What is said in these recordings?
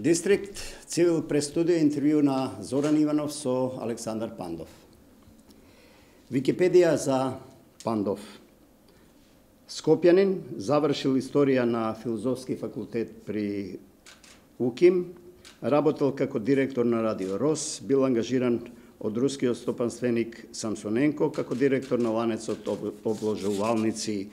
Дистрикт Цивил престудио интервју на Зоран Иванов со Александар Пандов. Википедија за Пандов. Скопјанин, завршил историја на филозофски факултет при УКИМ, работел како директор на Радио Рос, бил ангажиран од рускиот стопанственик Самсоненко како директор на ланецот обложувалници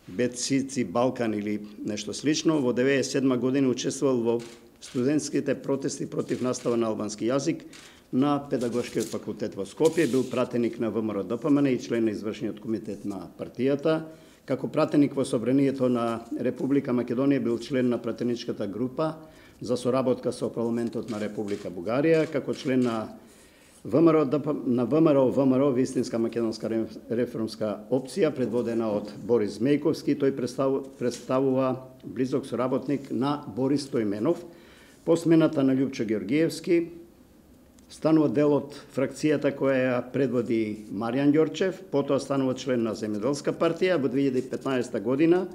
Бецици Балкан или нешто слично. Во 1997 година учествувал во студентските протести против настава на албански јазик на Педагошкиот факултет во Скопје, бил пратеник на ВМРО ДПМН и член на извршниот комитет на партијата. Како пратеник во Собранието на Република Македонија бил член на пратеничката група за соработка со парламентот на Република Бугарија, како член на ВМРО Вистинска македонска реформска опција, предводена од Борис Мејковски. Тој представува близок соработник на Борис Стојменов. По смената на Љупчо Ѓоргиевски станува дел од фракцијата која ја предводи Маријан Ѓорчев, потоа станува член на Земјоделска партија. Во 2015 година,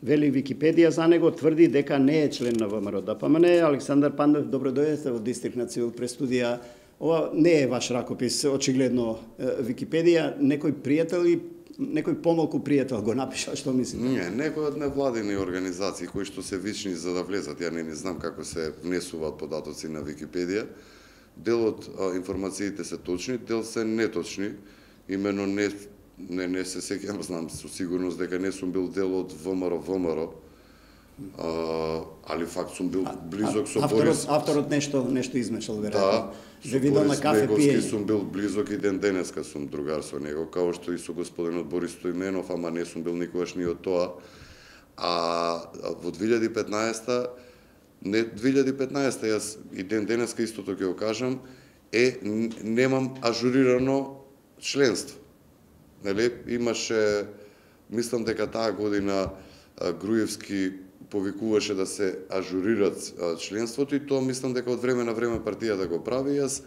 вели Википедија за него, тврди дека не е член на ВМРО ДПМН. Александар Пандов, добро дојдете во Дистрикт на Цивил престудија. Ова не е ваш ракопис, очигледно Википедија. Некој пријател и некој помалку пријател го напиша, што мислите? Не, некој од невладини организации кои што се вични за да влезат. Ја не знам како се внесуваат податоци на Википедија. Дел од информациите се точни, дел се неточни. Имено не се сеќавам, знам со сигурност дека не сум бил дел од ВМРО, али факт сум бил близок со Борис. Авторот нешто измешал веројатно. Да, со Борис Мејковски сум бил близок и ден денеска сум другар со него, као што и со господинот Борис Стојменов, ама не сум бил никогаш ни од тоа. А во 2015 јас и ден денеска истото ќе го кажам, немам ажурирано членство. Нели, имаше, мислам дека таа година Груевски повикуваше да се ажурират членството и тоа мислам дека од време на време партијата го прави. Јас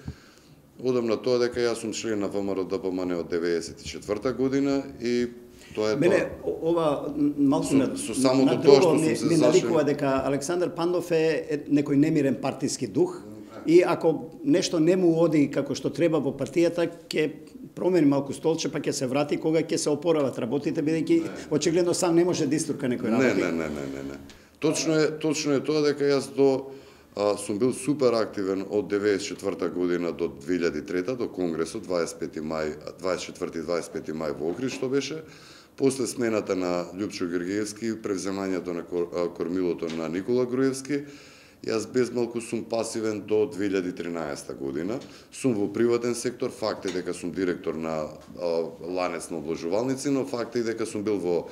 одам на тоа дека јас сум член на ВМРО ДПМН од 1994 година и тоа е Мене, ова малку на тоа што сум се ми навикува дека Александар Пандов е некој немирен партиски дух и ако нешто не му оди како што треба во партијата, ќе промени малку столче, па ќе се врати кога ќе се опорават работите, бидејќи очигледно сам не може да истурка некој работи. Не. Точно е тоа дека јас сум бил супер активен од 1994 година до 2003 до конгресот 24 и 25 мај во Охрид што беше. После смената на Љупчо Ѓоргиевски, превземањето на кормилото на Никола Груевски, јас безмалку сум пасивен до 2013 година. Сум во приватен сектор, факт е дека сум директор на ланец на обложувалници, но факт е дека сум бил во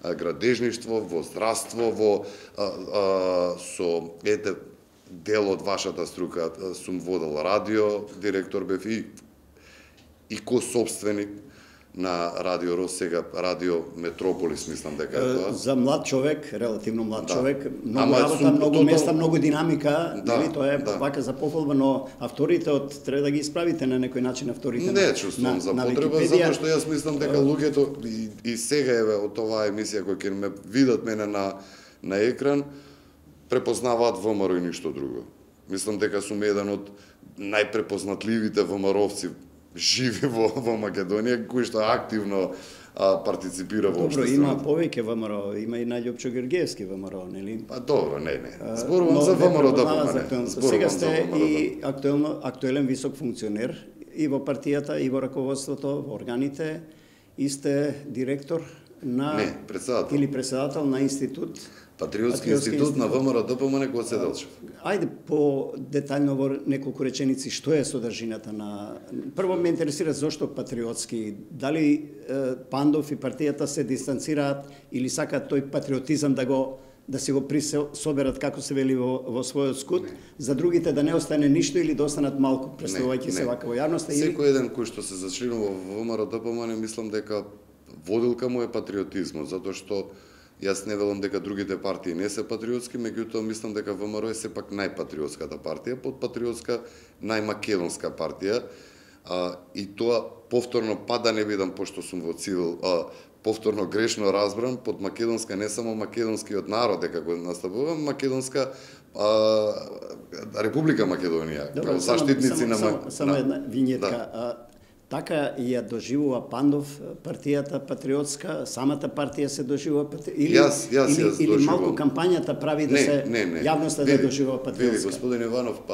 градежништво, во здравство, со дел од вашата струка сум водел радио, директор бев и ко-собственик на Радио Рос, сега Радио Метрополис, мислам дека е тоа. За млад човек, релативно млад човек, многу работа, многу места, многу динамика, нели, тоа е вака за пофалба, но авторитет треба да ги исправите на некој начин авторитет. Не чувствувам за потреба, затоа што јас мислам дека луѓето и сега еве од оваа емисија која ќе ме видат мене на екран, препознаваат ВМРО и ништо друго. Мислам дека сум еден од најпрепознатливите ВМРО-овци живи во Македонија, кој што активно партиципира во општеството. Добро, има повеќе ВМРО, има и на Љупчо Ѓоргиевски ВМРО, нели? Па добро, не. Зборувам за ВМРО ДПМН. Сега сте и актуелен висок функционер и во партијата, и во раководството, во органите, и сте директор на председател на институт Патриотски институт на ВМРО ДПМН Гоце Делчев. Ајде по детаљно во неколку реченици што е содржината на... Прво ме интересира зошто патриотски, дали Пандов и партијата се дистанцираат или сакаат тој патриотизам да се го присоберат, како се вели во својот скут, за другите да не остане ништо или да останат малку, представувајќи се вака во јавноста. Секој еден кој што се зачленува во ВМРО ДПМН, мислам дека водилка му е патриотизмот, затоа што јас не велам дека другите партии не се патриотски, меѓутоа мислам дека ВМРО е сепак најпатриотската партија, под патриотска најмакедонска партија, и тоа повторно, да не бидам, пошто сум во цивил, повторно грешно разбран, под македонска не само македонскиот народ дека го настапувам, македонска Република Македонија, како заштитници на само една винјетка. Така ја доживува Пандов партијата патриотска, самата партија се доживува или малку кампањата прави да се јавноста да доживува патриотска. Види, господин Иванов,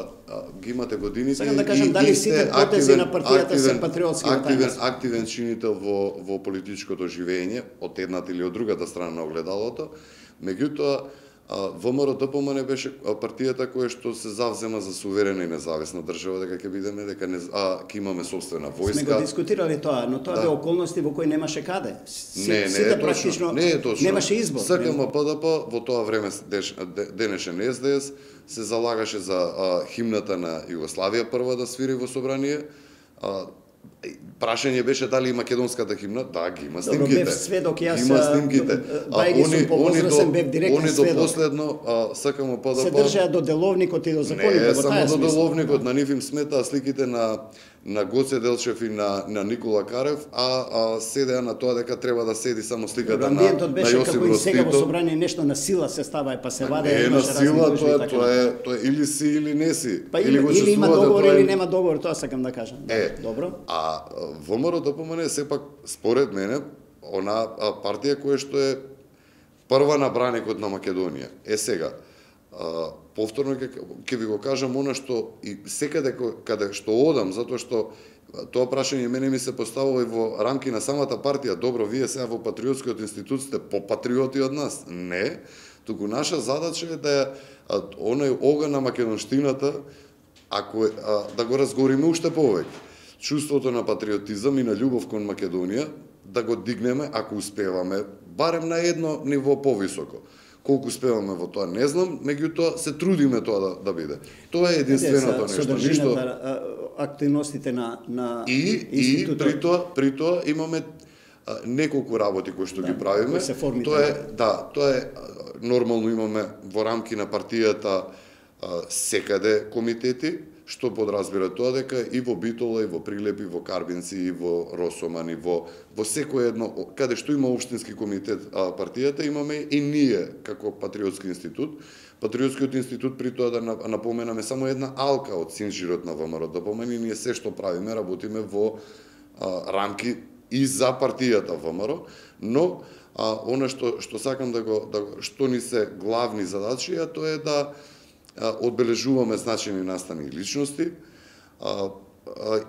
ги имате годините. Сакам да кажам дали сите потези на партијата се патриотски. Активен чинител во политичкото живење од едната или од другата страна на огледалото. Меѓутоа ВМРО-ДПМН беше партијата која што се завзема за суверена и независна држава, дека ќе бидеме, дека ќе имаме собствена војска. Сме го дискутирали тоа, но тоа бе околности во кои немаше каде. Сите практично немаше избор. СКМ ПДП во тоа време денешен СДС се залагаше за химната на Југославија прва да свири во собрание. Прашање беше дали и македонската химна, да, ги има снимките. Бев сведок јас. Има снимките. Они до последно СКМ ПДП се држаа до деловникот и до законите. Не, само до деловникот, на нив им сметаа сликите на Гоце Делчев и на Никола Карев, седеа на тоа дека треба да седи само сликата на Јосип Broz Tito. Како и сега во собрание нешто на сила се става па се ваде. Не на сила, тоа е или си или не си. Или има договор или нема договор, тоа сакам да кажам. Добро. ВМРО-ДПМН сепак според мене она партија која што е прва на браникот на Македонија. Сега повторно ќе ви го кажам она што и секаде каде што одам, затоа што тоа прашање мене ми се поставува и во рамки на самата партија. Добро, вие сега во Патриотскиот институт сте попатриоти од нас. Не, туку наша задача е да оној оган на македонштината, ако да го разгориме уште повеќе. Чувството на патриотизам и на љубов кон Македонија да го дигнеме, ако успеваме, барем на едно ниво повисоко. Колку успеваме во тоа не знам, меѓутоа се трудиме тоа да биде. Тоа е единственото нешто. Содржината, активностите на институтот. При тоа имаме неколку работи кои што ги правиме. Тоа е нормално, имаме во рамки на партијата секаде комитети, што подразбира тоа дека и во Битола, и во Прилеп, и во Карбинци, и во Росоман, и во секој едно, каде што има општински комитет партијата, имаме и ние како Патриотски институт. Патриотскиот институт, при тоа да напоменаме, само една алка од синжирот на ВМРО-ДПМН, и ние се што правиме, работиме во рамки и за партијата ВМРО, но она што сакам што ни се главни задачи, тоа е да одбележуваме значени настани личности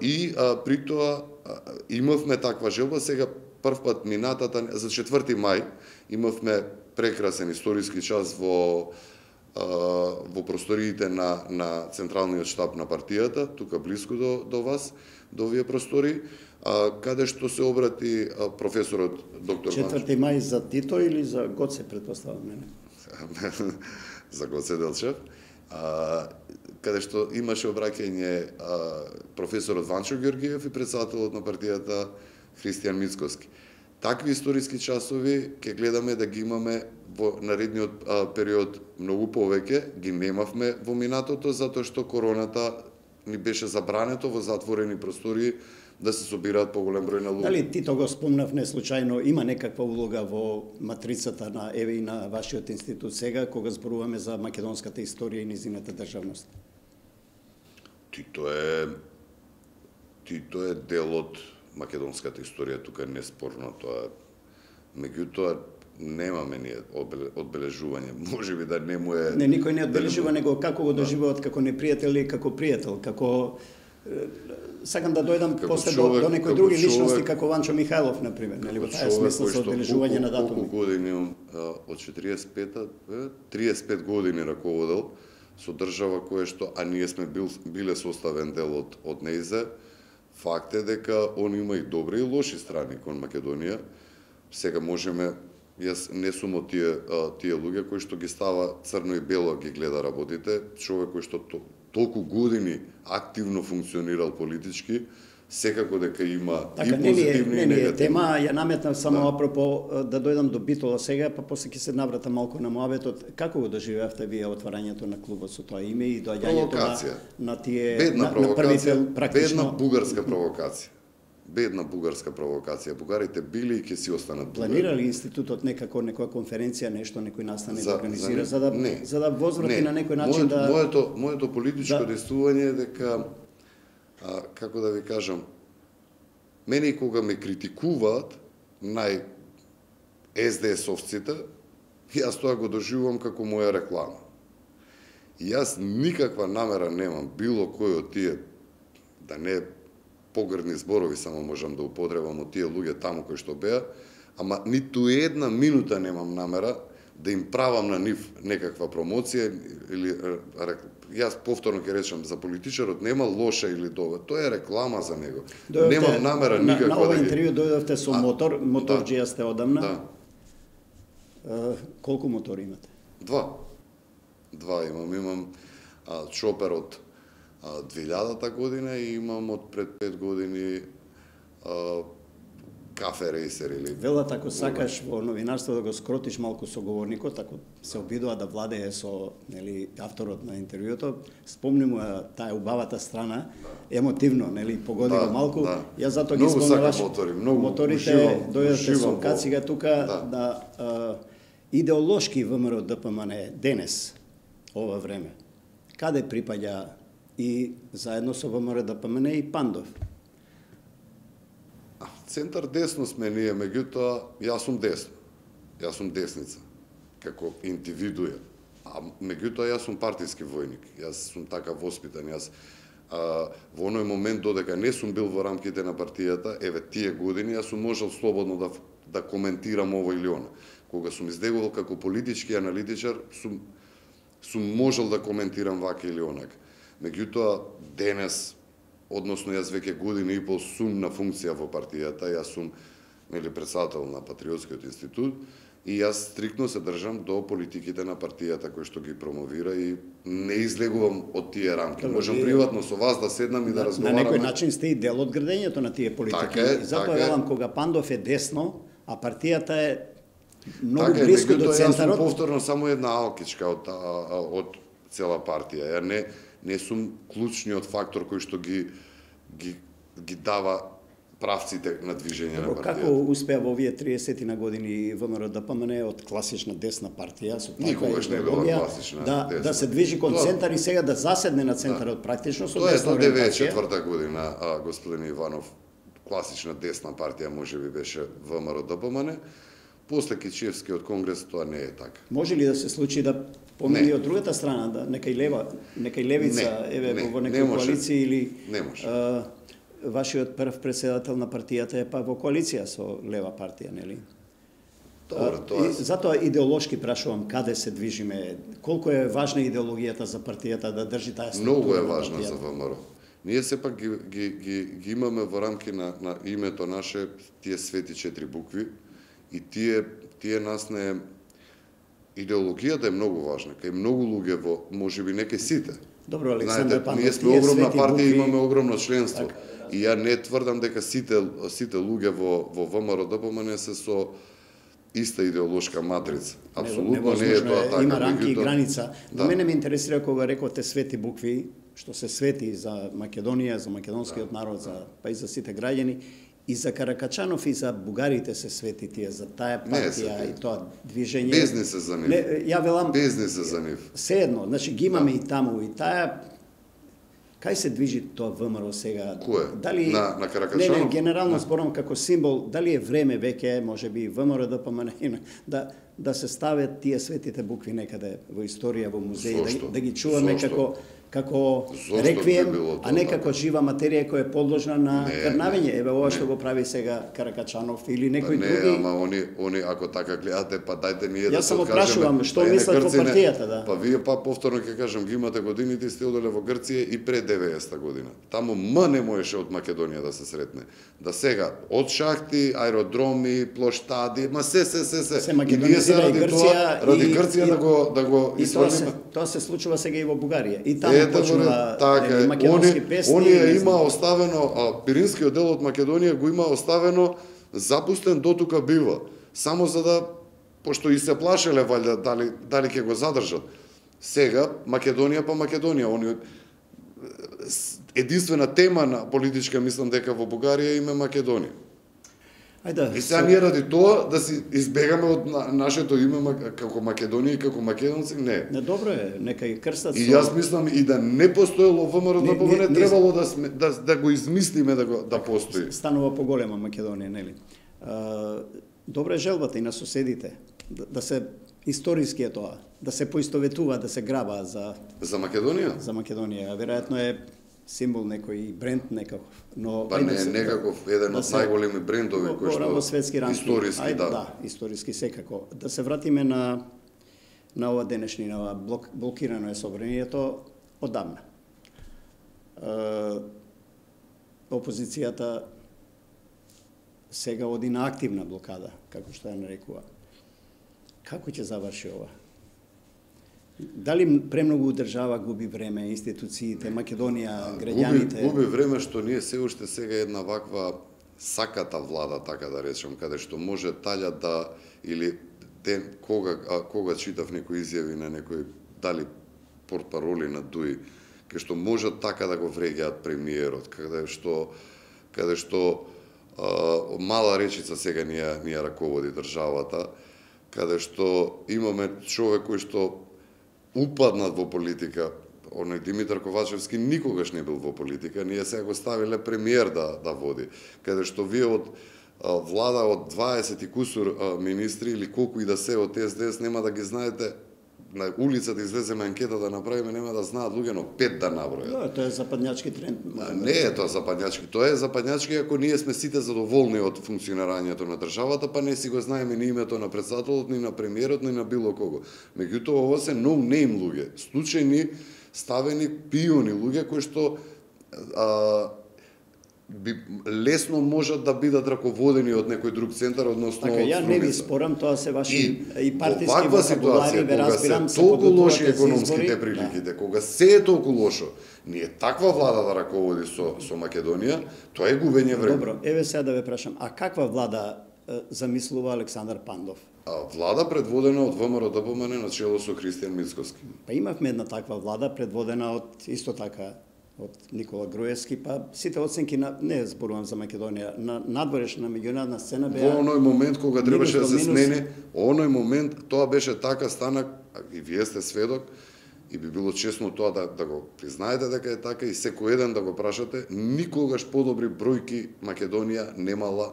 и при тоа имавме таква желба. Сега првпат минатата за 4 мај имавме прекрасен историски час во просториите на централниот штаб на партијата, тука близко до вас, до овие простори, каде што се обрати професорот доктор 4 мај за Тито или за Гоце, претпоставам мене? За Гоце Делчев. Каде што имаше обраќање професорот Ванчо Ѓоргиев и председателот на партијата Христијан Мицкоски. Такви историски часови ќе гледаме да ги имаме во наредниот период многу повеќе, ги немавме во минатото затоа што короната ни беше забрането во затворени простори да се собираат поголем број на луѓе. Дали Тито го спомнав не случајно, има некаква улога во матрицата на еве и на вашиот институт сега кога зборуваме за македонската историја и низината државност? Тито е дел од македонската историја, тука неспорно тоа. Меѓутоа немаме ние одбележување. Можеби да не му е... Не, никој не одбележува, него како го доживуваат како непријател или како пријател, како... Сакам да дојдам после до некои други личности, како Ванчо Михајлов, например, нели, во таа смисла со одбележување на датуми. Колку години имам, од 45-та, 35 години раководел со држава која што, а ние сме биле составен дел од нејзе. Факт е дека он има и добри и лоши страни кон Македонија. Сега можеме, јас не сум од тие луѓе кои што ги става црно и бело ги гледа работите, човек кој што толку години активно функционирал политички, секако дека има и позитивни и негативни. Тема ја наметнав само апропо да дојдам до Битола сега, па после ќе се навратам малку на муабетот. Како го доживеавте вие отварањето на клубот со тоа име и доаѓањето на тие на првите практично бедна бугарска провокација. бедна бугарска провокација. Бугарите били и ќе си останат бугари. Планира ли институтот некоја конференција, нешто некој настане да организира не, за да возврати на некој начин моето политичко действување е дека како да ви кажам, мене кога ме критикуваат СДС-овците, јас тоа го доживувам како моја реклама. И јас никаква намера немам било кој од тие, да не погрдни зборови само можам да употребам од тие луѓе таму кои што беа, ама ниту една минута немам намера да им правам на нив некаква промоција или јас повторно ќе речам, за политичарот нема лоша или добра, тоа е реклама за него. Немам намера никаква на ова интервју дојдовте со моторџија сте одамна. Да. Колку мотори имате? Два имам чопер од 2000-та година и имам од пред 5 години кафе рейсер или... Велат, ако сакаш во новинарство да го скротиш малку соговорникот, ако се обидува да владее со авторот на интервјуто, спомни му таа убавата страна, емотивно, погоди го малку. Јас затоа ги спомнуваш моторите, дојдете со кацига тука, идеолошки ВМРО ДПМН денес, ова време, каде припаѓа и заедно со ВМРО ДПМН и Пандов? Центар десно сме ние, меѓутоа јас сум десно. Јас сум десница како индивидуја. А меѓутоа јас сум партиски војник. Јас сум така воспитан. Јас во оној момент додека не сум бил во рамките на партијата, еве тие години јас сум можел слободно да коментирам ово или она. Кога сум издегувал како политички аналитичар, сум можел да коментирам вака или онака. Меѓутоа денес, односно јас веќе година и пол сум на функција во партијата, јас сум председател на Патриотскиот институт и јас стриктно се држам до политиките на партијата кои што ги промовира и не излегувам од тие рамки. Можам приватно со вас да седнам и да разговараме. На некој начин сте и дел од градењето на тие политики. Затоа велам, кога Пандов е десно, а партијата е многу близко до центарот. Јас сум повторно само една алкичка од цела партија. Ја не сум клучниот фактор кој што ги дава правците на движење на партијата. Како успеа во овие 30 на години ВМРО ДПМН од класична десна партија со никогаш не била класична десна. Да се движи кон центар и сега да заседне на центарот практично со десна ориентација. Тоа е 94-та година, господин Иванов, класична десна партија можеби беше ВМРО ДПМН. После Кичевскиот конгрес тоа не е така. Може ли да се случи да помени од другата страна, да некај левица, во некој коалиција или вашиот прв председател на партијата е па во коалиција со лева партија, нели? Затоа идеолошки прашувам каде се движиме, колку е важна идеологијата за партијата да држи таа структура. Многу е важна за ВМРО. Ние сепак ги имаме во рамки на името наше тие свети 4 букви и тие нас не идеологијата е многу важна, кај многу луѓе во можеби не кај сите. Добро, Александар Пандов, ние сме огромна партија, имаме огромно членство. И ја не тврдам дека сите луѓе во ВМРО ДПМН се со иста идеолошка матрица. Апсолутно не е тоа така. Има рамки и граница. Но мене ме интересира кога рекоте свети букви, што се свети за Македонија, за македонскиот народ, па и за сите граѓани. И за Каракачанов и за бугарите се свети тие, за таа партија и тоа движење. Бизнис е за нив. Ја велам, бизнис е за нив. Седно, значи ги имаме и таму и таа. Кај се движи тоа ВМРО сега? Кој? Дали на Каракачанов? Не, генерално зборам како символ, дали е време веќе, можеби ВМРО ДПМН да се стават тие светите букви некаде во историја, во музеи, да ги чуваме како реквием, а не како жива материја која е подложна на крнавење. Еве ова што го прави сега Каракачанов или некој други. Не, ама они ако така гледате, па дајте ние да се откажеме. Јас само прашувам што мислат во партијата, да. Па вие повторно ќе кажам, ги имате годините, сте оделе во Грција и пред 90-та година. Таму не можеше од Македонија да се сретне. Да сега од шахти, аеродроми, плоштади, ма се. Се македонизира и Грција, ради Грција да го исфрлиме. Тоа се случува сега и во Бугарија. И таму почнува македонски песни. Оние има оставено, Пиринскиот дел од Македонија го има оставено запустен дотука бива. Само за да, пошто и се плашеле валјда дали ќе го задржат. Сега Македонија па Македонија, они единствена тема на политичка, мислам дека во Бугарија име Македонија. Ајде. И сега ние ради тоа да си избегаме од нашето име како Македонија и како македонци, не. Не, добро е, нека и крстат. И јас мислам и да не постоело ВМРО ДПМН, требало да го измислиме да постои. Станува поголема Македонија, нели? Добра е желбата и на соседите да се историски е тоа, да се поистоветува, да се граба за Македонија. За Македонија, веројатно е символ некој бренд некаков, но па не е некаков еден од најголеми брендови кои што светски рамки. Историски, да, историски секако. Да се вратиме на ова денешнина, блокирано е собранието оддавна. Опозицијата сега оди на активна блокада, како што ја нарекува. Како ќе заврши ова? Дали премногу држава губи време, институциите, Македонија, граѓаните? Губи време што ние се уште сега една ваква саката влада, така да речем, каде што може талја да, или кога читав некои изјави на некои, дали портпароли на ДУИ, каде што може така да го вреѓаат премиерот, каде што мала речица сега ни ја раководи државата, каде што имаме човек кој што упаднат во политика, оној Димитар Ковачевски никогаш не бил во политика, ние сега го ставиле премиер да води, каде што вие од влада од 20 и кусур министри или колку и да се од СДС нема да ги знаете, на улицата излеземе анкета да направиме, нема да знаат луѓе, но 5 да набројат. Да, тоа е западњачки тренд. Не е тоа западњачки, тоа е западњачки ако ние сме сите задоволни од функционирањето на државата, па не си го знаеме ни името на претседателот, ни на премиерот, ни на било кого. Меѓутоа, ова се no-name луѓе, случајни, ставени, пиони луѓе кои што лесно можат да бидат раководени од некој друг центар, односно така, ја не ви спорам, тоа се ваши и партиски вокабулари, ве разбирам, се толку лоши економските приликите, кога се е толку лошо, ние таква влада да раководи со Македонија, тоа е губење време. Добро, еве сега да ве прашам, а каква влада замислува Александар Пандов? Влада предводена од ВМРО ДПМН на чело со Христијан Мицкоски. Па имавме една таква влада предводена од исто така од Никола Груевски, па сите оценки не зборувам за Македонија, на надворешна меѓународна сцена беа во оној момент кога требаше да се смени, оној момент тоа беше така станак, и вие сте сведок, и би било честно тоа да го признаете дека е така и секој еден да го прашате, никогаш подобри бројки Македонија немала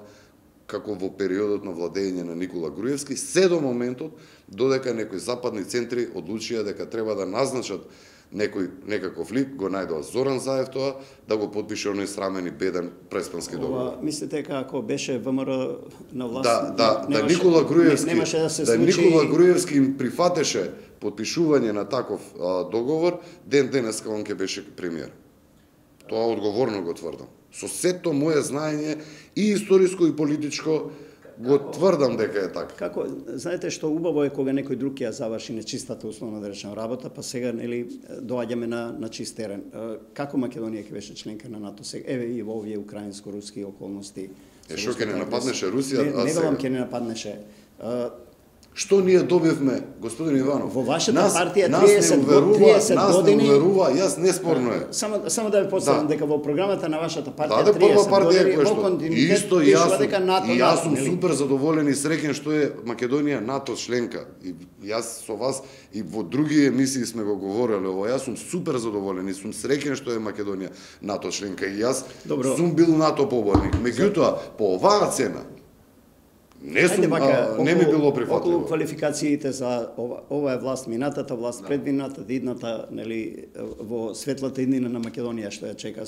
како во периодот на владење на Никола Груевски, се до моментот додека некои западни центри одлучија дека треба да назначат некаков лик, го најдоа Зоран Заев тоа, да го подпише оној срамен и беден преспански договор. Мислите како беше ВМРО на власт? Да Никола Груевски, немаше да се случи... Никола Груевски им прифатеше подпишување на таков договор, денеска он ќе беше премиер. Тоа одговорно го тврдам. Со сето моје знаење и историско и политичко го тврдам дека е така. Како, знаете што убаво е кога некој друг ја заврши нечистата условно да речем работа, па сега нели доаѓаме на чист терен. Како Македонија ќе беше членка на НАТО сега? Еве и во овие украинско-руски околности. Што ќе не нападнеше Русија? Не велам ќе не нападнеше. Што ние добивме, господин Иванов? Во вашата партија 30 години... Нас не уверува, јас неспорно е. Само да ви подсетам дека во програмата на вашата партија 30 години во континуитет пишува дека НАТО... И јас сум супер задоволен и среќен што е Македонија НАТО членка. И јас со вас и во други емисии сме го говореле ово. Јас сум супер задоволен и сум среќен што е Македонија НАТО членка. И јас сум бил НАТО поборник. Меѓутоа, по оваа цена, не ми било прифатливо. Околу квалификациите за ова е власт минатата, власт предвидната, идната, нели, во светлата иднина на Македонија што ја чека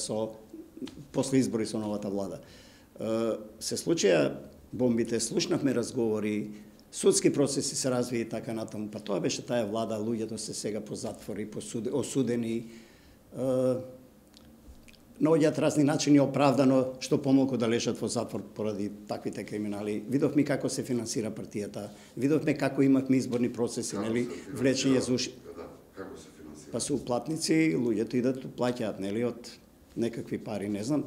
после избори со новата влада. Се случија бомбите, слушнавме разговори, судски процеси се развија и така натаму, па тоа беше таа влада, луѓето се сега по затвори, осудени, наоѓаат разни начини оправдано што помалку да лежат во затвор поради таквите криминали. Видовме како се финансира партијата, видовме како имавме изборни процеси, нели, влечење за уши. Како се финансира? Па се уплатници, луѓето идат плаќаат, нели, од некакви пари, не знам.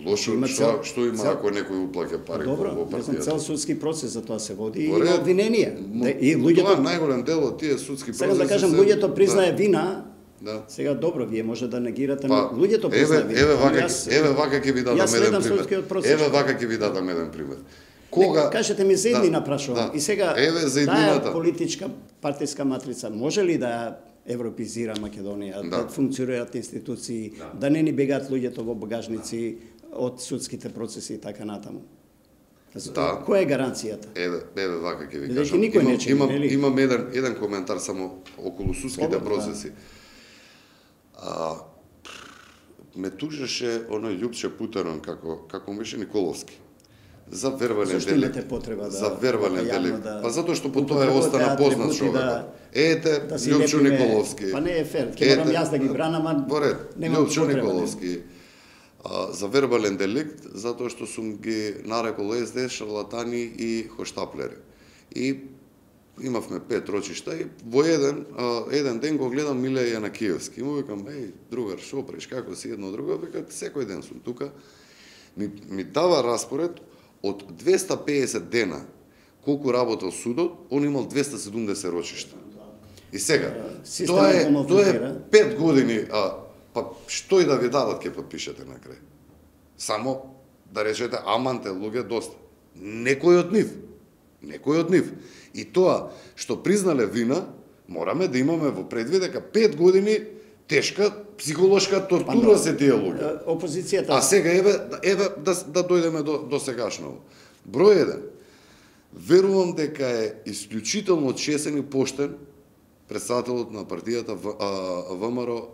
Лошо, што има ако некој уплаќа пари во партијата? Добро, не знам, цел судски процес за тоа се води и обвиненија. И луѓето... Тоа најголем дел од тие судски процеси... Сега да кажам, луѓето признае вина Да. Сега добро, вие може да негирате, но луѓето признаат. Еве вака ќе ви дадам еден пример. Еве вака ќе ви дадам еден пример. Кога кажете ми за иднина прашувам. И сега таа политичка партиска матрица може ли да европизира Македонија, да функционираат институции, да не ни бегаат луѓето во багажници од судските процеси и така натаму? Која е гаранцијата? Еве вака ќе ви кажам. Имам еден коментар само околу судските процеси. Ме тужеше оној Љупче Путерон како беше Николовски. За вербален делект. За вербален делект. Па затоа што по тоа остана познат човек. Ете, Љупчо Николовски. Па не е фер, ќе морам јас да ги бранам, а Љупчо Николовски. За вербален делект, затоа што сум ги нарекол СДС шарлатани и хоштаплери. И имавме 5 рочишта и во еден ден го гледам Милеја Јанакиевски. И му викам, другар, шо преш, како си едно друго? Вика, секој ден сум тука. Ми дава распоред од 250 дена колку работел судот, он имал 270 рочишта. И сега, тоа е 5 години, па што и да ви дадат ќе подпишете на крај. Само да речете, аманте, луѓе, доста. Некој од нив. И тоа што признале вина, мораме да имаме во предвид дека 5 години тешка психолошка тортура се тие луѓе. Опозицијата. А сега еве да дојдеме до сегашново. Број 1. Верувам дека е исклучително честен и поштен председателот на партијата ВМРО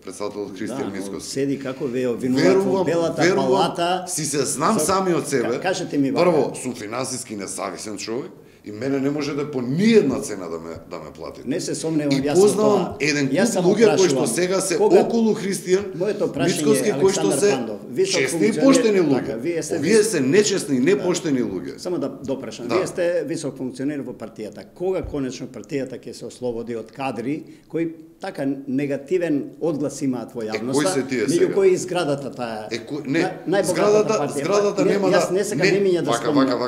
председателот Христијан Мицкоски. Седи како винуват во белата палата. Си се знам сами од себе. Кажете ми прво, сум финансиски независен човек и мене не може да по ниедна цена да ме платите. Не се сомневам јас со тоа. И познавам еден куп луѓе кои што сега се околу Христијан Мицкоски, кои што се честни и поштени луѓе. Овие се нечестни и непоштени луѓе. Само да допрашам. Вие сте висок функционер во партијата. Кога конечно партијата ќе се ослободи од кадри кои така негативен одглас имаат во јавноста, меѓу кои зградата таа зградата нема да јас не сакам имиња да спомнам.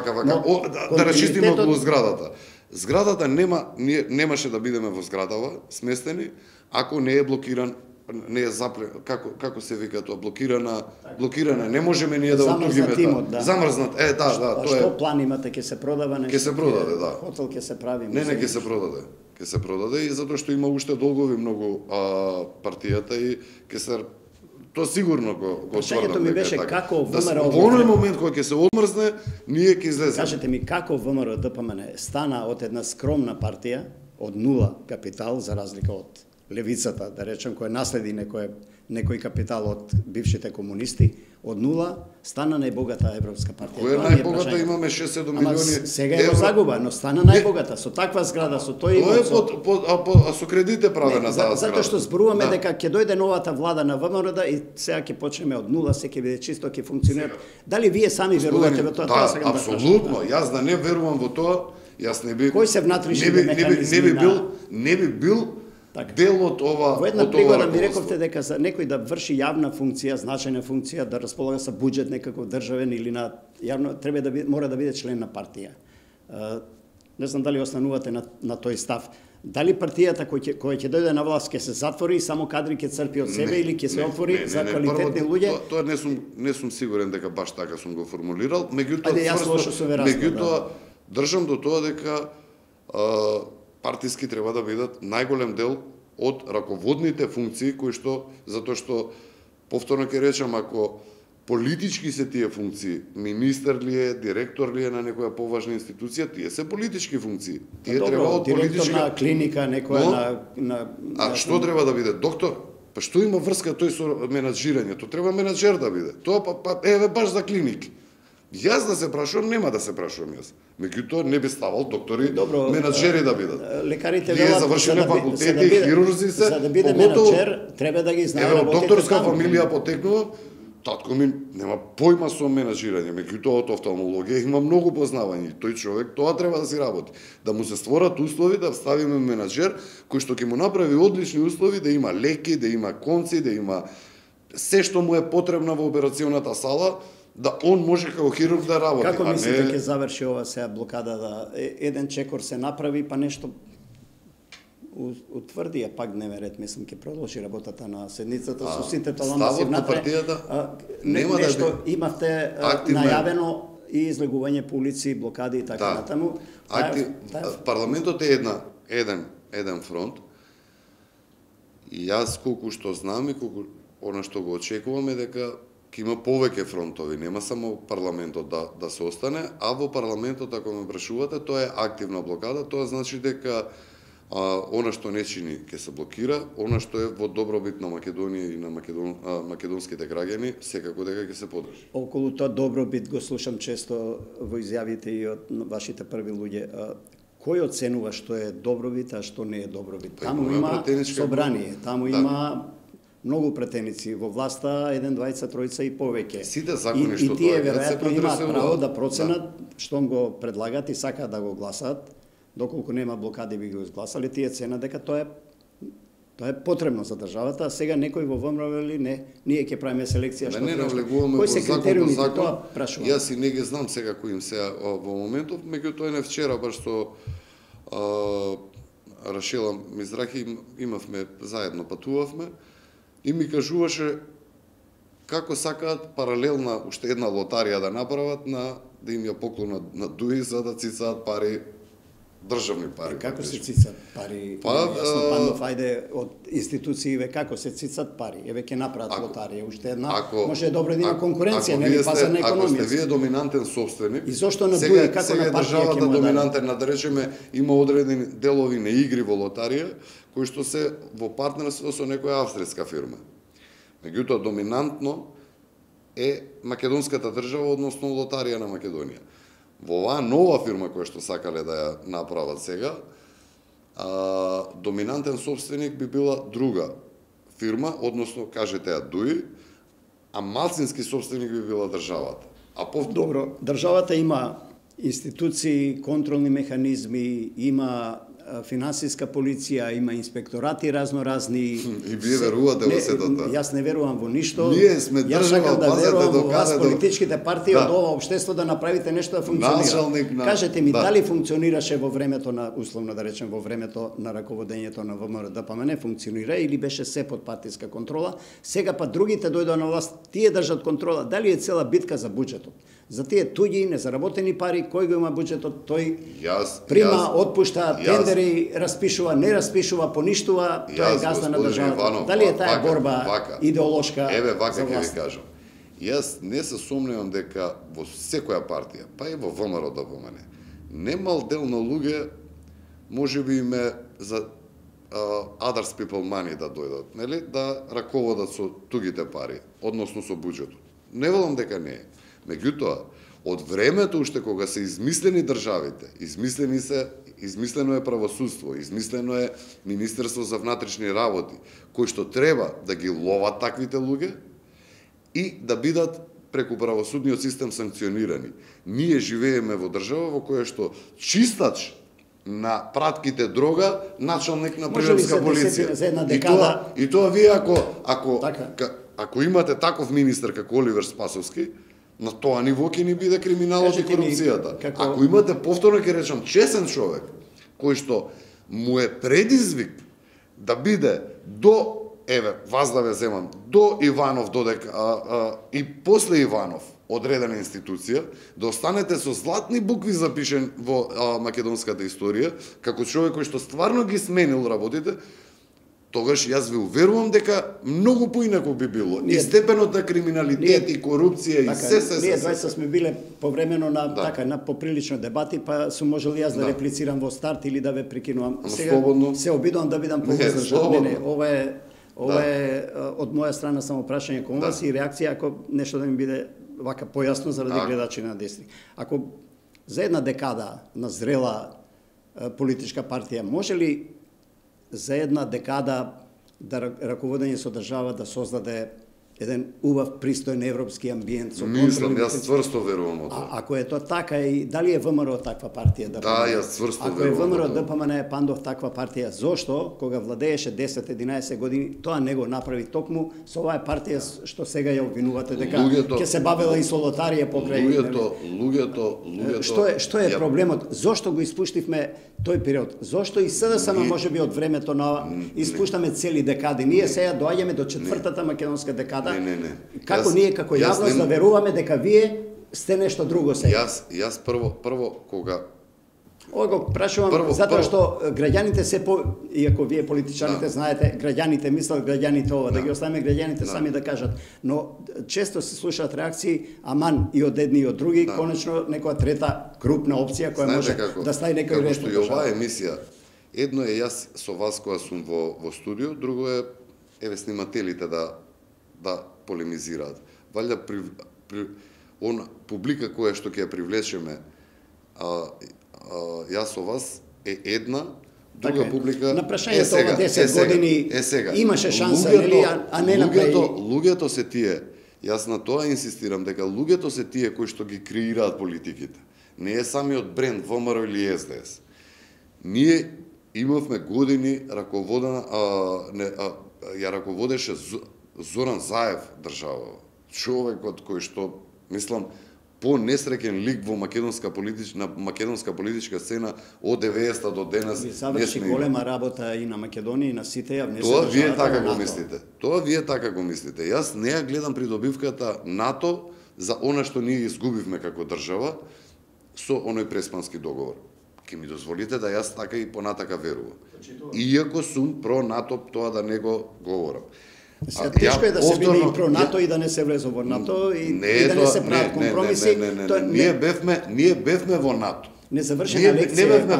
Да расчистиме околу зградата. Зградата немаше да бидеме во зградава сместени ако не е блокиран, не е како се вика тоа, блокирана, не можеме ние да отугиме тоа. Замрзнат, тоа е. Што план имате, ќе се продава нешто? Ќе се продаде, да. Хотел ќе се прави. Не, ќе се продаде. Ќе се продаде и затоа што има уште долгови многу партијата и ќе се тоа сигурно го отврнат. Прашањето ми беше како ВМРО во оној момент кога ќе се одмрзне, ние ќе излеземе. Кажете ми како ВМРО ДПМН стана од една скромна партија од нула капитал за разлика од левицата, да речем, која наследи некој капитал од бившите комунисти, од нула стана најбогата европска партија. Која е најбогата? Имаме 6-7 милиони. Сега е во загуба, но стана најбогата со таква зграда, со тој Тоа со кредите правена таа зграда. Затоа што зборуваме дека ќе дојде новата влада на ВМРО и сега ќе почнеме од нула, се ќе биде чисто, ќе функционира. Дали вие сами верувате во тоа? Да, апсолутно. Јас да не верувам во тоа, јас не би. Кој се внатрешни механизми? Не би бил дел од ова. Во една пригода ми рековте дека за некој да врши јавна функција, значајна функција, да располага со буџет некаков државен или на јавно, мора да биде член на партија. Не знам дали останувате на тој став. Дали партијата која ќе дојде на власт ќе се затвори и само кадри ќе црпи од себе или ќе се отвори за квалитетни луѓе? Тоа не сум сигурен дека баш така сум го формулирал, меѓутоа држам до тоа дека партиски треба да бидат најголем дел од раководните функции кои што, затоа што повторно ќе речам, ако политички се тие функции, министер ли е, директор ли е на некоја поважна институција, тие се политички функции. Тие треба од политичка директор на клиника, некоја на А што треба да биде доктор? Па што има врска тој со менаџирањето? Треба менаџер да биде. Тоа еве баш за клиники. Јас да се прашувам, нема да се прашувам јас. Меѓутоа не би ставал доктори, менаџери да бидат. Лекарите велат завршиле факултети, хирурзи се. За да биде менаџер, треба да ги знае работите. Докторска фамилија потекнува, татко ми нема појма со менаџирање, меѓутоа од офталмологија има многу познавање. Тој човек тоа треба да си работи. Да му се створат услови да ставиме менаџер кој што ќе му направи одлични услови, да има леки, да има конци, да има се што му е потребно во операционата сала, да он може како хирург да работи. Како мислите ќе заврши ова сега блокада, да еден чекор се направи, па нешто утврди пак дневен ред, мислам ќе продолжи работата на седницата со сите ставот на партијата нема нешто имавте најавено и излегување по улици, блокади и така натаму. Парламентот е еден фронт. И јас колку што знам и колку она што го очекуваме дека ќе има повеќе фронтови, нема само парламентот да се остане, а во парламентот, ако ме прашувате, тоа е активна блокада, тоа значи дека она што не чини ќе се блокира, она што е во добробит на Македонија и на македонските граѓани, секако дека ќе се подржи. Околу тоа добробит го слушам често во изјавите и од вашите први луѓе. Кој оценува што е добробит, а што не е добробит? Таму има собрание, таму има многу претеници во власта, 1, 2, 3 и повеќе. Сите закони и што тие веројатно имаат право да проценат штом го предлагат и сакаат да го гласаат. Доколку нема блокади би го изгласали, тие цена дека тоа е потребно за државата, а сега некој во ВМРО или не, ние ќе правиме селекција што не навлегуваме во закон, тоа прашувам. Јас и не ги знам сега кои им се во моментов, меѓутоа не вчера баш што Рашела Мизрахи имавме заедно патувавме и ми кажуваше како сакаат паралелна уште една лотарија да направат да им ја поклонат на ДУИ за да цицаат пари, државни пари. Како се цицат пари? Јасно Пандов, ајде од институциите како се цицат пари? Еве ќе направат лотарија уште една. Може добро да има конкуренција, нели пазарна економија. Ако сте вие доминантен собственик, и зошто на ДУИ како на партија ќе му доминантен, да речеме, има одредени делови на игри во лотарија кои што се во партнерство со некоја австријска фирма. Меѓутоа доминантно е македонската држава, односно лотарија на Македонија. Во оваа нова фирма која што сакале да ја направат сега, доминантен собственик би била друга фирма, односно кажете ја ДУИ, а малцински собственик би била државата. Добро, државата има институции, контролни механизми, има финансиска полиција, има инспекторати разноразни. И вие верувате во сето тоа? Јас не верувам во ништо. Ние сме држава, да верувам во вас, докаде политичките партии од ова општество да направите нешто да функционира. Кажете ми, дали функционираше во времето на, условно да речем, во времето на раководењето на ВМРО-ДПМН, функционира или беше се под партиска контрола? Сега па другите дојдоа на власт, тие држат контрола. Дали е цела битка за буџетот? За тие туѓи, незаработени пари, кој го има буџетот, тој прима, отпушта, тендери, распишува, не распишува, поништува, тоа е газда на државата. Дали е таа борба идеолошка? Еве вака ќе ви кажам. Јас не се сомневам дека во секоја партија, па и во ВМРО-ДПМН, немал дел на луѓе можеби име за others people money да дојдат, нели, да раководат со тугите пари, односно со буџетот. Не велам дека не е. Меѓутоа, од времето уште кога се измислени државите, измислено е правосудство, измислено е Министерство за внатрешни работи, кои што треба да ги ловат таквите луѓе и да бидат преку правосудниот систем санкционирани. Ние живееме во држава во која што чистач на пратките дрога, началник на приградска полиција. И тоа вие ако имате таков министер како Оливер Спасовски, на тоа ниво ќе ни биде криминалот и корупцијата. Ако имате, повторно ќе речам, чесен човек, кој што му е предизвик да биде вас да ве земам, до Иванов додека и после Иванов одредена институција, да останете со златни букви запишен во македонската историја, како човек кој што стварно ги сменил работите, тогаш јас ви уверувам дека многу поинаку би било. И степенот на криминалитет и корупција и се. Ние двајца сме биле повремено на поприлично дебати, па сум можел јас да реплицирам во старт или да ве прекинувам. Сега се обидувам да бидам повоздржан. Не, ова е од моја страна само прашање кон вас и реакција ако нешто да ми биде вака појасно заради гледачи на Десни. Ако за една декада на зрела политичка партија може ли за една декада да раководење со држава да создаде еден убав, пристоен европски амбиент со Мислам, јас цврсто верувам во тоа. Ако е тоа така, и дали е ВМРО таква партија да? Да, јас цврсто Ако е верувам во ВМРО тоа. ДПМН Пандов таква партија, зошто кога владееше 10-11 години тоа не го направи токму со оваа партија што сега ја обвинувате дека ќе се бавела и со лотарија покрај Луѓето Што е проблемот? Зошто го испуштивме тој период? Зошто и СДСМ можеби од времето на испуштаме цели декади? Ние сега доаѓаме до четвртата македонска декада. Не. Како ние како јавност да веруваме дека вие сте нешто друго сега? Јас прво кога Ова го прашувам затоа што граѓаните се иако вие политичарите знаете, граѓаните мислат, граѓаните ова, да ги оставиме граѓаните сами да кажат, но често се слушаат реакции, аман и од едни и од други, конечно некоја трета крупна опција која може да стави некој ред. Како што и оваа емисија, едно е јас со вас кога сум во студио, друго е снимателите да полемизираат. Валјда он публика која што ќе ја привлечеме, јас со вас е една, друга публика на прашањето ова 10 години имаше шанса, нели, а не направи. Луѓето се тие. Јас на тоа инсистирам дека луѓето се тие кои што ги креираат политиките. Не е самиот бренд ВМРО или СДС. Ние имавме години раководена ја раководеше Зоран Заев држава. Човекот кој што мислам по-несреќен лик во македонска политичка сцена од 90-та до денес. Заврши голема работа и на Македонија и на сите ја внесе. Тоа вие така го мислите. Тоа вие така го мислите. Јас не ја гледам придобивката НАТО за она што ние изгубивме како држава со оној преспански договор. Ке ми дозволите да јас така и понатака верувам. Иако сум про НАТО, тоа да не го говорам. Тешко е да се биде и про НАТО и да не се влезе во НАТО и да не се прават компромиси. Ние бевме во НАТО. Незавршена лекција.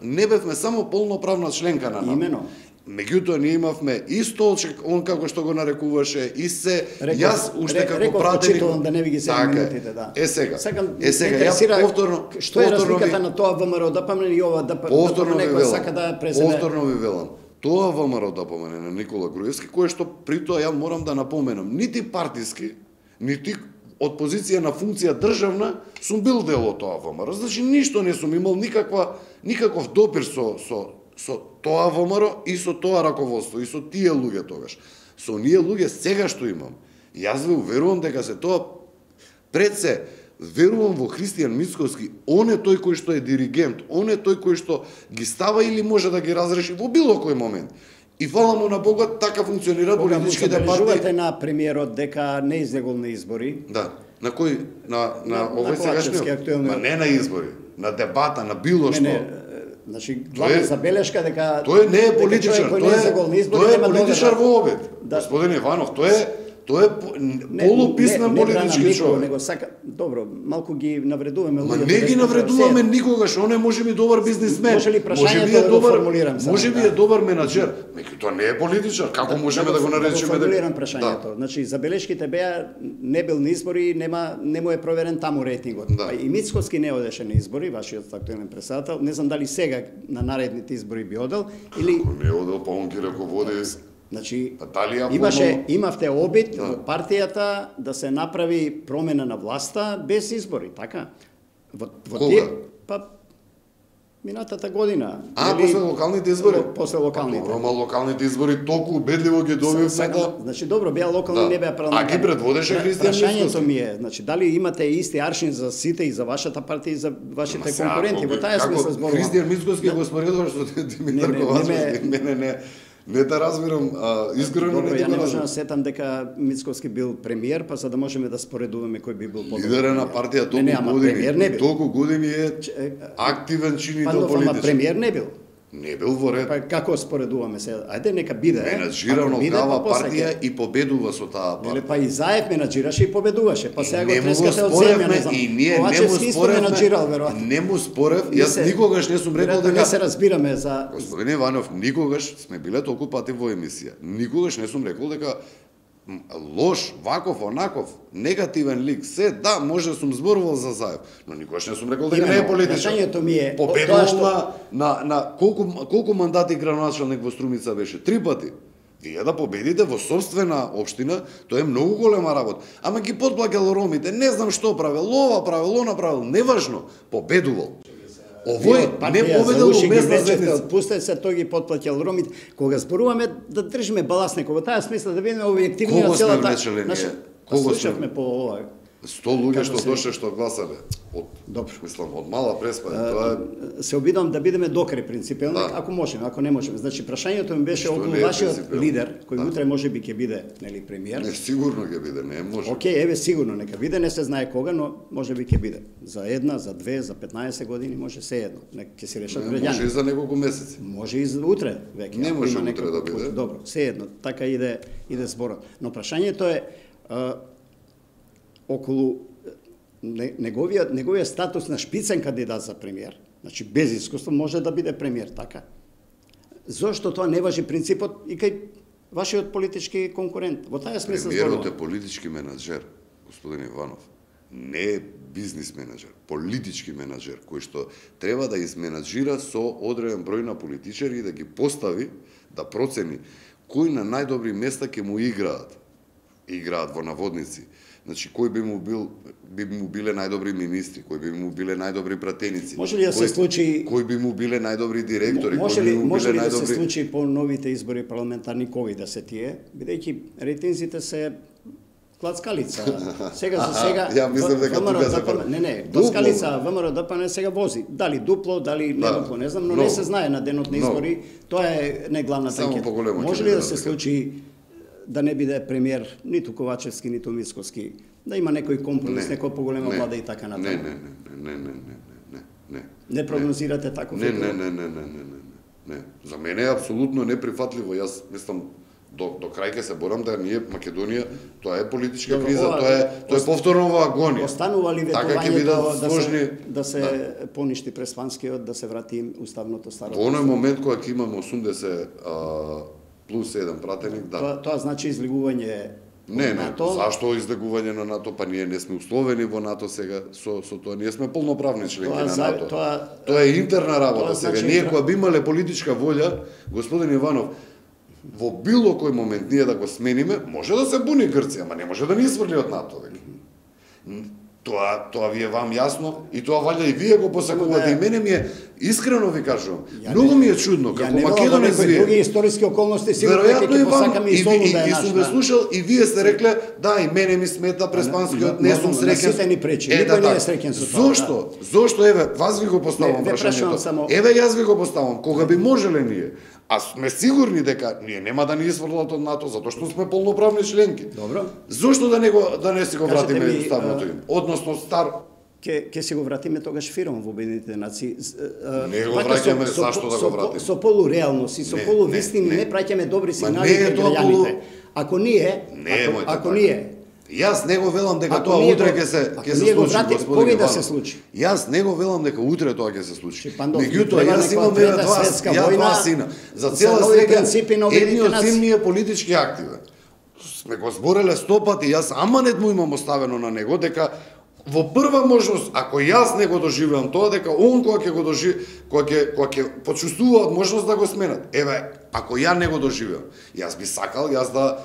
Не бевме само полноправна членка на НАТО. Имено. Меѓутоа ние имавме и столчек, он како што го нарекуваше, и се јас уште како пратеник. Реков да не ви ги се минутите, да. Сега ја повторно што е разликата на тоа ВМРО ДПМН и ова ДПМН некој сака да преземе. Повторно ви велам. Тоа ВМРО ДПМН на Никола Груевски, кое што при тоа ја морам да напоменам, нити партиски, нити од позиција на функција државна сум бил дел од тоа ВМРО. Значи ништо не сум имал никаков допир со тоа ВМРО и со тоа раководство и со тие луѓе тогаш. Со оние луѓе сега што имам. Јас ве уверувам дека се тоа пред се верувам во Христијан Мицкоски, он е тој кој што е диригент, он е тој кој што ги става или може да ги разреши во било кој момент. И фала му на Бога, така функционираат политичките партии. Забележувате на премиерот дека не излегол на избори. Да. На кој? На овој сегашниот? Не на избори, на дебата, на било што. Значи, главна забелешка дека тој не е политичар, тој е политичар во обед. Господин Иванов, тој е полуписнан политички човек. Него сака, добро, малку ги навредуваме луѓето. Не ги навредуваме никогаш, он е можеби добар бизнисмен. Може ли прашањето да го формулирам сега? Можеби е добар менаџер, меѓутоа не е политичар. Како можеме да го наречеме дека формулирам прашањето? Значи забелешките беа не бил на избори, не му е проверен таму рейтингот. И Мицкоски не одеше на избори, вашиот актуелен претседател. Не знам дали сега на наредните избори би одел или не одел, па он ги раководи. Значи, имавте обид во партијата да се направи промена на власта без избори, така? Кога? Па, минатата година. После локалните избори? После локалните. Добро, ама локалните избори толку убедливо ги добивме да... Значи, добро, беа локални, не беа парламентарни. А ги предводеше Христијан Мицкоски. Прашањето ми е, значи, дали имате исти аршин за сите и за вашата партија и за вашите конкуренти? Во таа смисла зборувам. Христијан Мицкоски го споредуваш со Димитар Ковачевски. Не да разбирам, искрено не ја не можам да сетам дека Мицкоски бил премиер, па за да можеме да споредуваме кој би бил подобар. Лидер на партија толку години е активен чинител политички. Ама премиер не бил. Не бил во ред. Па како споредуваме се? Ајде нека биде. Менаџирано кава партија и победува со таа партија. Па и Заев менаџираше и победуваше, па сега го трескате од земја, не знам. И ние не му споревме. Не му спорев, јас никогаш не сум рекол дека не се разбираме за Господин Иванов, никогаш сме биле толку пати во емисија. Никогаш не сум рекол дека лош, ваков, онаков, негативен лик, се, да, може сум зборувал за Заев, но никогаш не сум рекол дека не е политичар. Прашањето ми е победувал на колку мандати градоначалник во Струмица беше? 3 пати. Вие да победите во собствена општина, тоа е многу голема работа. Ама ги подплакал ромите, не знам што правил, ова правил, она правил, неважно, победувал. Овој не победил во местна заедница. Отпустете се, тој ги подплаќал ромите. Кога зборуваме да држиме баланс некој, во таа смисла да бидеме објективни на целата. Кого сме влечеле ние? Кого слушавме по ова? 100 луѓе што дошле што гласале. Добро. Мислам, од мала преспа. Тоа се обидам да бидеме докрај принципелни, ако можеме, ако не можеме. Значи прашањето ми беше околу вашиот лидер, кој утре може би ќе биде, нели, премиер. Не, сигурно ќе биде, не може. Океј, еве сигурно нека биде, не се знае кога, но може би ќе биде. За една, за две, за 15 години може се едно. Нека ќе се решат граѓаните. Може и за неколку месеци. Може и за утре веќе. Не може утре да биде. Добро, се едно, така иде зборот. Но прашањето е околу неговиот статус на шпицен кандидат за премиер, значи без искуство може да биде премиер, така? Зошто тоа не важи принципот и кај вашиот политички конкурент? Во таа смисла премиерот е политички менаџер, господин Иванов. Не е бизнис менаџер, политички менаџер, кој што треба да изменаџира со одреден број на политичари и да ги постави, да процени кои на најдобри места ќе му играат во наводници. Значи, кој би му биле најдобри министри, кој би му биле најдобри пратеници. Може ли да се случи... Кој би му биле најдобри директори, може ли да се случи по новите избори парламентарни кои да се тие, бидејќи рейтинзите се клацкалица. Сега за сега... Ја мислам дека тука се... Не, клацкалица ВМРО ДПМН сега вози. Дали дупло, дали не дупло, не знам, но не се знае на денот на избори. Тоа е не главната анкета. Може ли да се случи да не биде премиер ниту Ковачевски, ниту Мицкоски, да има некој компромис, некоја поголема влада и така натаму? Не. Не прогнозирате таков фигур? Не. За мене е апсолутно неприфатливо. Јас мислам до крај ќе се борам да ние Македонија, тоа е политичка криза, тоа е повторно во агонија. Останува ли ветувањето да се поништи преспанскиот, да се врати уставното старото? Во оној момент кога ќе имаме 80 плюс 1 пратеник, да. Тоа значи излегување Не, зашто излегување на НАТО? Па ние не сме условени во НАТО сега со тоа. Ние сме полноправни членки на НАТО. Тоа е интерна работа сега. Ние кога би имале политичка волја, господин Иванов, во било кој момент ние да го смениме, може да се буни Грција, ама не може да ни сврли од НАТО веќе. Тоа ви е вам јасно и тоа валја и вие го посакувате. И мене ми е, искрено ви кажувам, многу ми е чудно како македонец вие. Други историски околности сигурно ќе посакаме и солу да е наш. И сум ве слушал и вие сте рекле, да, и мене ми смета преспанскиот, не сум среќен. Сите ни пречи, никој не е среќен со тоа. Зошто, еве, вас ви го поставам прашањето. Еве, јас ви го поставам, кога би можеле ние, а сме сигурни дека ние нема да ни изфрлат од НАТО, затоа што сме полноправни членки. Добро. Зошто да не си го вратиме уставното им? Односно стар Ке си го вратиме тогаш фиром во Обединетите нации. Не го враќаме, зашто да го вратиме? Со полуреалност и со полувистини не праќаме добри сигнали кај граѓаните. Ако ние Јас не го велам дека тоа утре ќе се случи, господин Иванов. Јас не го велам дека утре тоа ќе се случи. Меѓутоа, јас имам два сина. За цела среќа, едниот син ми е политички активен. Сме го збореле 100 пати, јас аманет му имам оставено на него, дека во прва можност, ако јас не го доживеам тоа, дека он кога ќе го кога ќе почувствуваат можност да го сменат. Еве, ако ја не го доживеам, јас би сакал да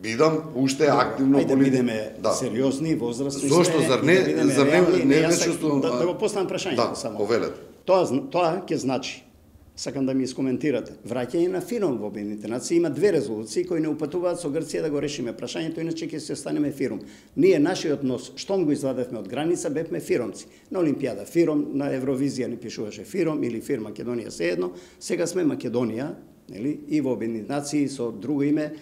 бидам уште активно политик. Да бидеме сериозни, возрастни. Зошто, зар не чувствувам... Да го поставам прашањето само. Повелете. Тоа ќе значи, сакам да ми искоментирате, враќање на фиром во Обединетите нации. Има две резолуции кои не упатуваат со Грција да го решиме прашањето, иначе ќе се останеме фиром. Ние, нашиот нос, штом го извадевме од граница, бевме фиромци. На Олимпијада фиром, на Евровизија ни пишуваше фиром или фир Македонија се едно. Сега сме Македонија, нели, и во Обединетите нации со друго име,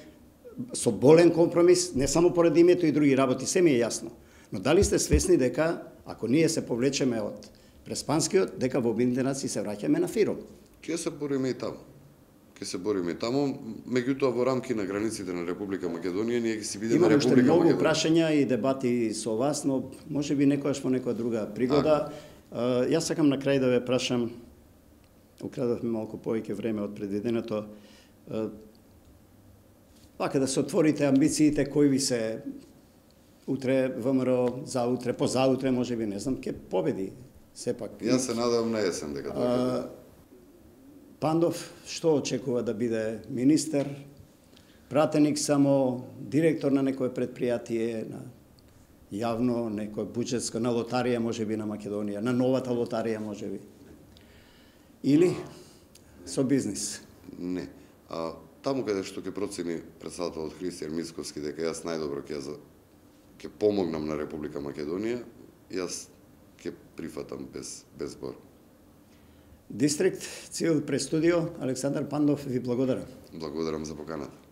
со болен компромис, не само поради името и други работи, се ми е јасно. Но дали сте свесни дека, ако ние се повлечеме од преспанскиот, дека во Обединетите нации се враќаме на фиром? Ќе се бориме и таму. Меѓутоа во рамки на границите на Република Македонија ние ќе си бидеме Република Македонија. Имам уште многу прашања и дебати со вас, но може би некојаш во некоја друга пригода. Јас сакам на крај да ве прашам, украдавме малку повеќе време од предвиденото, вака да се отворите амбициите кои ви се утре ВМРО, заутре, позаутре, може би, не знам, ќе победи сепак. Јас се надевам на есен дека тоа ќе Пандов што очекува да биде министер? пратеник само, директор на некое предпријатие, на јавно, некој буџетско, на лотарија можеби на Македонија, на новата лотарија можеби. Или со бизнис? Не. Таму каде што ќе процени претседателот Христијан Мицковски дека јас најдобро ќе помогнам на Република Македонија, јас ќе прифатам без збор. Дистрикт Цивил пред студио, Александар Пандов ви благодарам. Благодарам за поканата.